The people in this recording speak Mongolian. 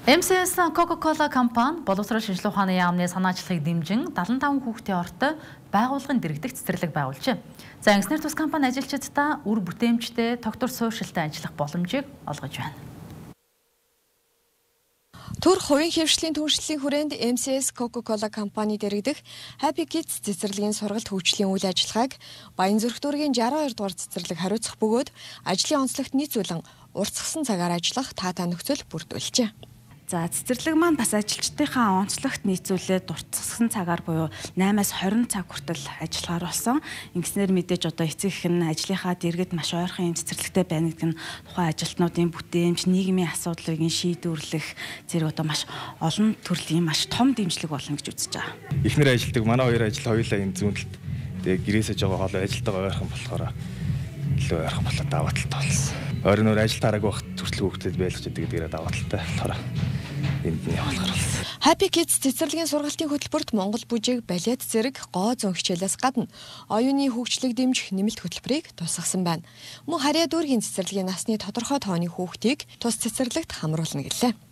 MCS Coca-Cola компани боловсрол шинжилгээ ухааны яамны санаачлагыг дэмжин 75 хүүхдийн ортой байгууллагын дэргэдэх цэцэрлэг байгуулжээ. За Ангснэр тус компани ажилчдаа үр бүтээмжтэй тогтвор суурьшилтай ажиллах боломжийг олгож байна. Төрх хувийн хэвшлийн түншлэлийн хүрээнд MCS Coca-Cola компани дэргэдэх Happy Kids цэцэрлэгийн сургалт хөгжлийн үйл ажиллагааг Баянзүрх дүүргийн 62 дугаар цэцэрлэг хариуцах бөгөөд ажлын онцлогт нийцүүлэн уртсгсан цагаар ажиллах таатай нөхцөл бүрдүүлжээ. За цэцэрлэг маань бас ажилчдынхаа онцлогт нийцүүлээд уртсгсан цагаар буюу 8-аас 20 цаг хүртэл ажиллахаар болсон. Ингэснээр мэдээж одоо эцэг их нь ажлынхаа дэргэд маш ойрхон цэцэрлэгтэй байна гэдэг нь тухайн ажилтнуудын бүтээмж, нийгмийн асуудлыг шийдвэрлэх зэрэг одоо маш олон төрлийн маш том дэмжлэг болно гэж үзэж байгаа. Эхнэр ажилдаг манай хоёр ажил хоёулаа энэ зүүнэлт тэгээ гэрээсэж байгаа хоолой ажилтайгаа ойрхон болохоор илүү ойрхон болоод даваа талтай болсон. Ойрын өөр ажил тараагүй багт төрслөг хөвгөдөд байлгаж идэг гэдгээр даваа талтай болохоор энд нь явуулахар болсон. Happy Kids цэцэрлэгийн сургалтын хөтөлбөрт Монгол бүжиг, балет зэрэг гоо зөн хичээлээс гадна оюуны хөгжлийг дэмжих нэмэлт хөтөлбөрийг тусгасан байна. Мөн Харьяа дүүргийн цэцэрлэгийн насны тодорхой тооны хүүхдийг тус цэцэрлэгт хамруулна гэлээ.